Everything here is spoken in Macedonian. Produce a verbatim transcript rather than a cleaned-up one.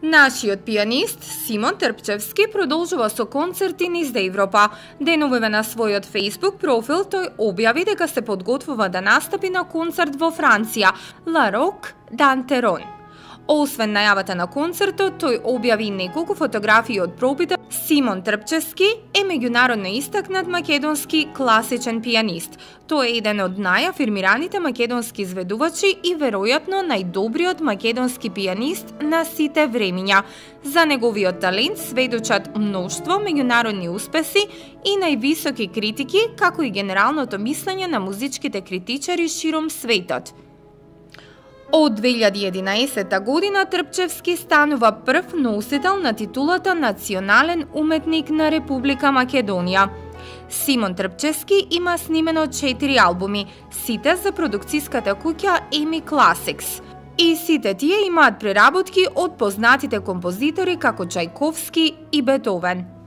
Нашиот пианист Симон Трпчевски продолжува со концерти низ Европа. Деновиве на својот Facebook профил тој објави дека се подготвува да настапи на концерт во Франција, Ла Рок Дантерон. Освен најавата на концертот, тој објави неколку фотографии од пробите. Симон Трпчевски е меѓународно истакнат македонски класичен пианист. Тој е еден од најафирмираните македонски изведувачи и веројатно најдобриот македонски пианист на сите времиња. За неговиот талент сведочат мноштво меѓународни успеси и највисоки критики, како и генералното мислење на музичките критичари широм светот. Од две илјади и единаесетта година Трпчевски станува прв носител на титулата Национален уметник на Република Македонија. Симон Трпчевски има снимено четири албуми, сите за продукцијската куќа Еми Classics. И сите тие имаат преработки од познатите композитори како Чајковски и Бетовен.